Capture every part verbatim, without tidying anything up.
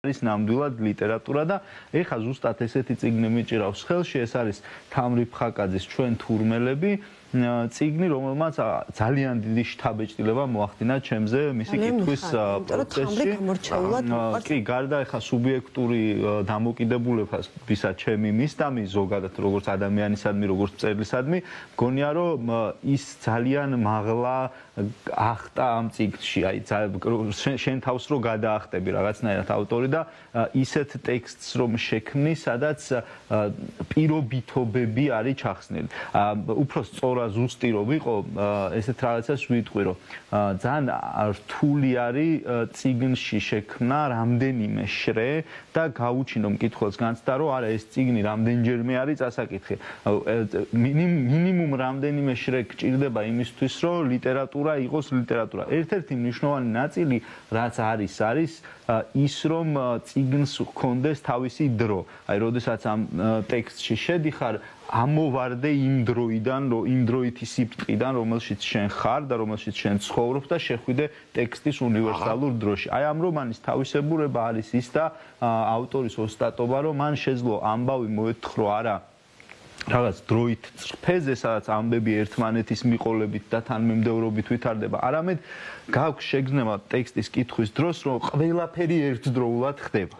არის ნამდვილად ლიტერატურა და ეხა ზუსტად ესეთი წიგნი მიჭირავს ხელში, ეს არის თამრი ფხაკაძის ჩვენ თურმელები, წიგნი, რომელმაც ძალიან დიდი შთაბეჭდილება მოახდინა ჩემზე მისი კითხვის პროცესში. კი, გარდა ეხა სუბიექტური დამოკიდებულებისა ჩემი მისდამი ზოგადად როგორც ადამიანისადმი, როგორც მწერლისადმი, მგონია რომ ის ძალიან მაღლა ახტა ამ წიგნში, აი შენ თავს რო გადაახტები რაღაცნაირად ავტორი და ისეთ ტექსტს რომ შექმნი, სადაც პირობითობები არის ჩახსნილი. უფრო სწორ ზუსტი რომ ვიყო, ესეთ რაღაცას ვიტყვი, რომ ძალიან რთული არის წიგნში შექმნა რამდენიმე შრე და გაუჩინო მკითხველს განცდა, რომ არა ეს წიგნი რამდენჯერმე არის წასაკითხი. მინიმუმ რამდენიმე შრე გჭირდება იმისთვის, რომ ლიტერატურა იყოს ლიტერატურა. ერთ-ერთი მნიშვნელოვანი ნაწილი, რაც არის, არის ის, რომ წიგნს ჰქონდეს თავისი დრო. აი, როდესაც ამ ტექსტში შედიხარ, ამოვარდე იმ დროიდან, იმ დროითი სიბრტყიდან, რომელშიც შენ ხარ და რომელშიც შენ ცხოვრობ და შეხვიდე ტექსტის უნივერსალურ დროში. აი ამ რომანის თავისებურება არის ის და ავტორის ოსტატობა, რომ მან შეძლო ამბავი მოეთხოვა არა რაღაც დროით წრფეზე, სადაც ამბები ერთმანეთის მიყოლებით და თანმიმდევრობით ვითარდება, არამედ გაქვს შეგრძნება ტექსტის კითხვის დროს, რომ ყველაფერი ერთდროულად ხდება.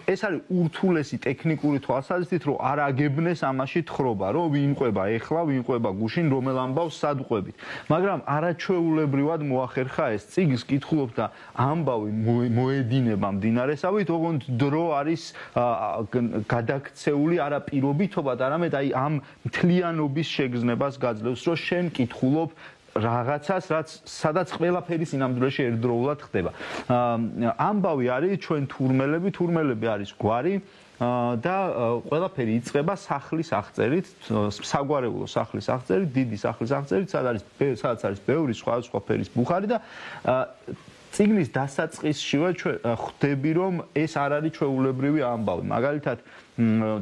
ეს არის ურთულესი ტექნიკური თვალსაზრისით, რომ არ აგებნეს ამაში თხრობა, რომ ვინ ყვება ეხლა, ვინ ყვება გუშინ, რომელ ამბავს სად ყვებით. მაგრამ არაჩვეულებრივად მოახერხა ეს წიგნს კითხულობ და ამბავი მოედინება მდინარესავით, ოღონდ დრო არის გადაქცეული არა პირობითობად, არამედ აი ამ მთლიანობის შეგრძნებას გაძლევს, რომ შენ კითხულობ რაღაცას, რაც სადაც ყველაფერი სინამდვილეში ერთდროულად ხდება. ამბავი არის ჩვენ თურმელები, თურმელები არის გვარი და ყველაფერი იწყება სახლის აღწერით, საგვარეულო სახლის აღწერით, დიდი სახლის აღწერით, სადაც არის ბევრი სხვადასხვა ფერის ბუხარი და წიგნის დასაწყისშივე ხვდები, რომ ეს არ არის ჩვეულებრივი ამბავი. მაგალითად,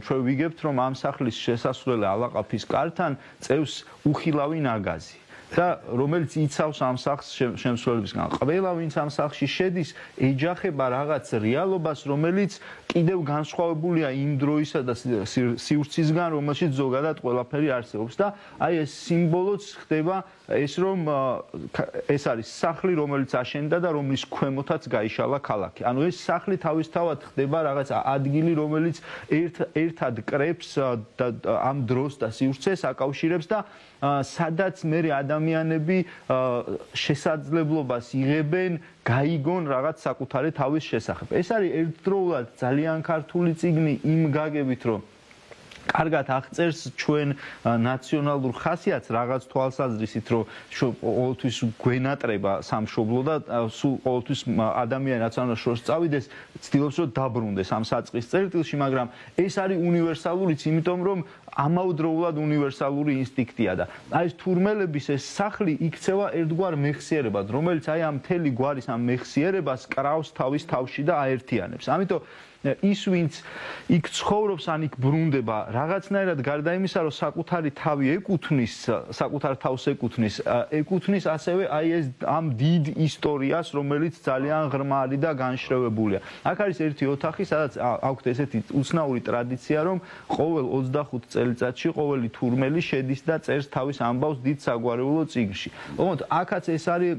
ჩვენ ვიგებთ, რომ ამ სახლის შესასვლელი ალაყაფის კართან წევს უხილავი ნაგაზი. და რომელიც იცავს ამ სახლს შემსრულებისგან. ყველა ვინც ამ სახლში შედის, ეჯახება რაღაც რეალობას, რომელიც კიდევ განსხვავებულია იმ დროისა და სივრცისგან, რომელშიც ზოგადად ყველაფერი არსებობს და აი ეს სიმბოლოც ხდება ეს, რომ ეს არის სახლი, რომელიც აშენდა და რომლის ქვემოთაც გაიშალა ქალაქი. ანუ ეს სახლი თავისთავად ხდება რაღაც ადგილი, რომელიც ერთად კრებს ამ დროს და სივრცეს აკავშირებს და სადაც მე ადამიანები შესაძლებლობას იღებენ გაიგონ რაღაც საკუთარი თავის შესახებ. ეს არის ერთდროულად ძალიან ქართული წიგნი იმ გაგებით, რომ კარგად აღწერს ჩვენ ნაციონალურ ხასიათს რაღაც თვალსაზრისით, რომ ყოველთვის გვენატრება სამშობლო და სულ ყოველთვის ადამიანი რაც უნდა შორს წავიდეს, ცდილობს რომ დაბრუნდეს ამ საწყის წერტილში, მაგრამ ეს არის უნივერსალურიც, იმიტომ რომ ამავდროულად უნივერსალური ინსტინქტია და აი ეს თურმელების ეს სახლი იქცევა ერთგვარ მეხსიერებად, რომელიც აი ამ მთელი გვარის ამ მეხსიერებას კრავს თავის თავში და აერთიანებს. ამიტომ ის ვინც იქ ცხოვრობს, ან იქ ბრუნდება, რაღაცნაირად გარდა იმისა, რომ საკუთარი თავი ეკუთვნის, საკუთარ თავს ეკუთვნის, ეკუთვნის ასევე აი ეს ამ დიდ ისტორიას, რომელიც ძალიან ღრმარი და განშრევებულია. აქ არის ერთი ოთახი, სადაც აქვთ ესეთი უცნაური ტრადიცია, რომ ყოველ ოცდახუთ წელიწადში ყოველი თურმელი შედის და წერს თავის ამბავს დიდ საგვარეულო წიგნში. ოღონდ აქაც ეს არის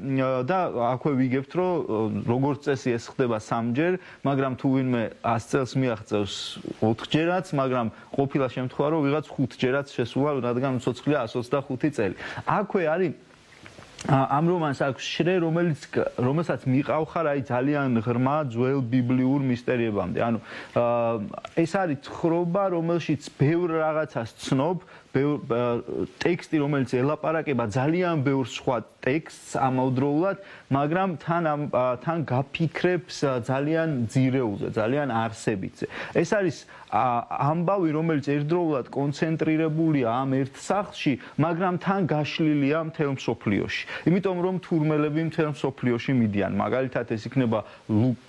და აქვე ვიგებთ, რომ როგორც წესი ეს ხდება სამჯერ, მაგრამ თუ ვინმე ას წელს მიაღწევს ოთხჯერაც, მაგრამ ყოფილა შემთხვევა, რომ ვიღაც ხუთჯერაც შესულა, რადგან უცოცხლია εκατს ოცდახუთი წელი. აქვე არის ამ რომანს აქვს შრე, რომელიც რომელსაც მიყავხარ აი ძალიან ღრმა ძველ ბიბლიურ მისტერიებამდე. ანუ ეს არის თხრობა, რომელშიც ბევრ რაღაცას ცნობ, ტექსტი, რომელიც ელაპარაკება ძალიან ბევრ სხვა ტექსტს ამავდროულად, მაგრამ თან თან გაფიქრებს ძალიან ძირეულზე, ძალიან არსებითზე. ეს არის ამბავი, რომელიც ერთდროულად კონცენტრირებულია ამ ერთ სახლში, მაგრამ თან გაშლილია მთელ მსოფლიოში. იმიტომ რომ თურმელები მთელ მსოფლიოში მიდიან. მაგალითად ეს იქნება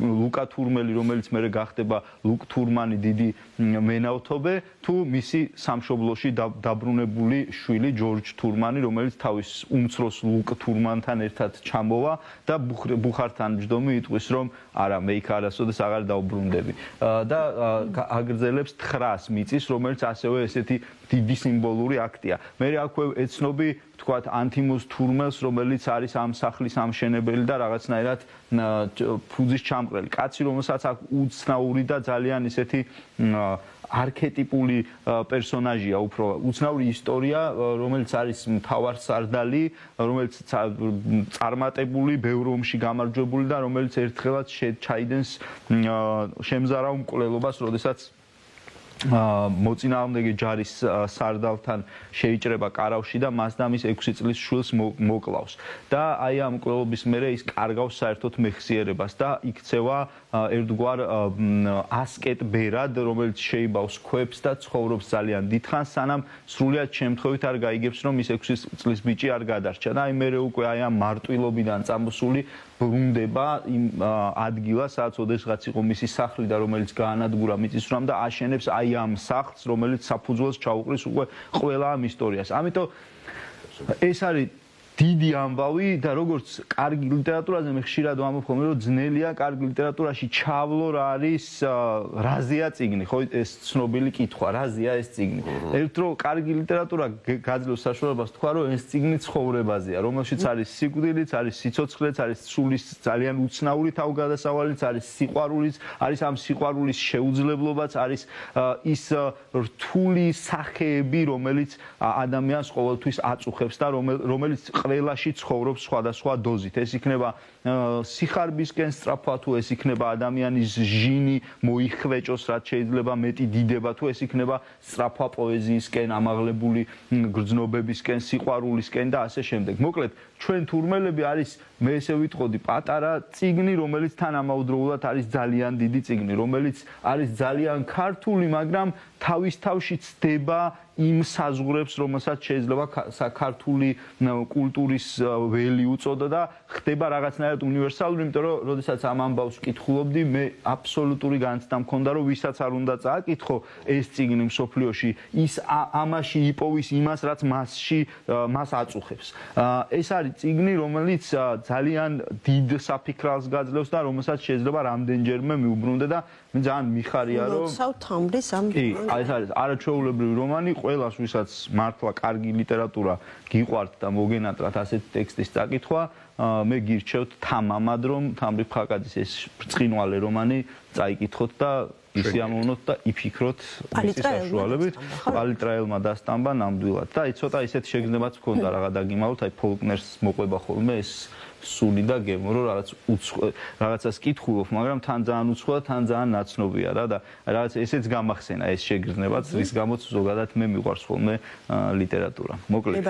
ლუკა თურმელი, რომელიც მერე გახდება ლუკ თურმანი დიდი მენავთობე, თუ მისი სამშობლოში დაბრუნებული შვილი ჯორჯ თურმანი, რომელიც თავის უმცროს ლუკ თურმანთან ერთად ჩამოვა და ბუხართან ჯდომი იტყვის რომ არა მე იქ არასოდეს აღარ დავბრუნდები და აგრძელებს თხრას მიწის, რომელიც ასევე ესეთი დიდი სიმბოლური აქტია. მე აქვე ეცნობი თქვათ ანთიმოზ თურმელს, რომელიც არის ამ სახლის ამშენებელი და რაღაცნაირად ფუძის ჩამყრელი. კაცი, რომელსაც აქვს უცნაური და ძალიან ისეთი არქეტიპული პერსონაჟია, უფრო უცნაური ისტორია, რომელიც არის მთავარსარდალი, რომელიც წარმატებული, ბევრ ომში გამარჯვებული და რომელიც ერთხელაც ჩაიდენს შემზარავ მკვლელობას, როდესაც მოწინააღმდეგე ჯარის სარდალთან შეიჭრება კარავში და მას და მის ექვსი წლის შვილს მოკლავს. და აი ამ მკვლელობის მერე ის კარგავს საერთოდ მეხსიერებას და იქცევა ერთგვარ ასკეტ ბერად, რომელიც შეიბავს ქვებს და ცხოვრობს ძალიან დიდხანს, სანამ სრულად შემთხვევით არ გაიგებს, რომ ის ექვსი წლის ბიჭი არ გადარჩა. და აი მერე უკვე აი ამ მარტვილობიდან წამოსული ბრუნდება იმ ადგილას, სადაც ოდესღაც იყო მისი სახლი და რომელიც გაანადგურა მიწისძვრამ და აშენებს აი ამ სახლს, რომელიც საფუძველს ჩაუყრის უკვე ყველა ამ ისტორიას. ამიტომ ეს არის დიდი ამბავი და როგორც კარგი ლიტერატურაზე მე ხშირად ვამბობ ხოლმე რომ ძნელია კარგი ლიტერატურაში ჩავლო რა არის რაზეა წიგნი, ხო ეს ცნობილი კითხვა, რაზეა ეს წიგნი. ერთ რო კარგი ლიტერატურა გაძლევს საშუალებას თქვა რომ ეს წიგნი ცხოვრებაზეა, რომელშიც არის სიკვდილიც, არის სიცოცხლეც, არის სულის ძალიან უცნაური თავგადასავალიც, არის სიყვარულიც, არის ამ სიყვარულის შეუძლებლობაც, არის ის რთული სახეები, რომელიც ადამიანს ყოველთვის აწუხებს და რომელიც ყველაში ცხოვრობს სხვადასხვა დოზით. ეს იქნება სიხარბისკენ სწრაფვა, თუ ეს იქნება ადამიანის ჟინი მოიხვეჭოს, რაც შეიძლება მეტი დიდება, თუ ეს იქნება სწრაფვა პოეზიისკენ, ამაღლებული გრძნობებისკენ, სიყვარულისკენ და ასე შემდეგ. მოკლედ, ჩვენ თურმელები არის მე ესე ვიტყოდი პატარა წიგნი, რომელიც თანამედროვეულად არის ძალიან დიდი წიგნი, რომელიც არის ძალიან ქართული, მაგრამ თავის თავში ცდება იმ საზღვრებს, რომელსაც შეიძლება ქართული კულტურის ველი უწოდა და ხდება რაღაცნაირად უნივერსალური, იმიტომ რომ როდესაც ამ ამბავს ვკითხულობდი, მე აბსოლუტური განცდა მქონდა, რომ ვისაც არ უნდა წააკითხო ეს წიგნი მსოფლიოში, ის ამაში იპოვის იმას, რაც მასში მას აწუხებს. ეს არის წიგნი, რომელიც ძალიან დიდ საფიქრალს გაძლევს და რომელსაც შეიძლება რამდენჯერმე მიუბრუნდე და მე ძალიან მიხარია, რომ თავმდის ამ კი, ეს არის არაჩვეულებრივი რომანი, ყველას ვისაც მართლა კარგი ლიტერატურა გიყვართ და მოგენატრათ ასეთი ტექსტის წაკითხვა, მე გირჩევთ თამამად, რომ თამრი ფხაკაძის ეს ბრწყინვალე რომანი წაიკითხოთ და ისიამოვნოთ და იფიქროთ მისი საშუალებით. პალიტრაელმა დასტამბა ნამდვილად. და აი ცოტა ისეთ შეგრძნებაც მქონდა რაღა დაგიმალოთ, აი ფოლკნერს მოყვება ხოლმე ეს სული და გემო, რომ რაღაც რაღაცას კითხულობ, მაგრამ თან ძალიან უცხოა, თან ძალიან ნაცნობია რა და რაღაც ესეც გამახსენა ეს შეგრძნებაც, რის გამოც ზოგადად მე მიყვარს ხოლმე ლიტერატურა. მოკლედ.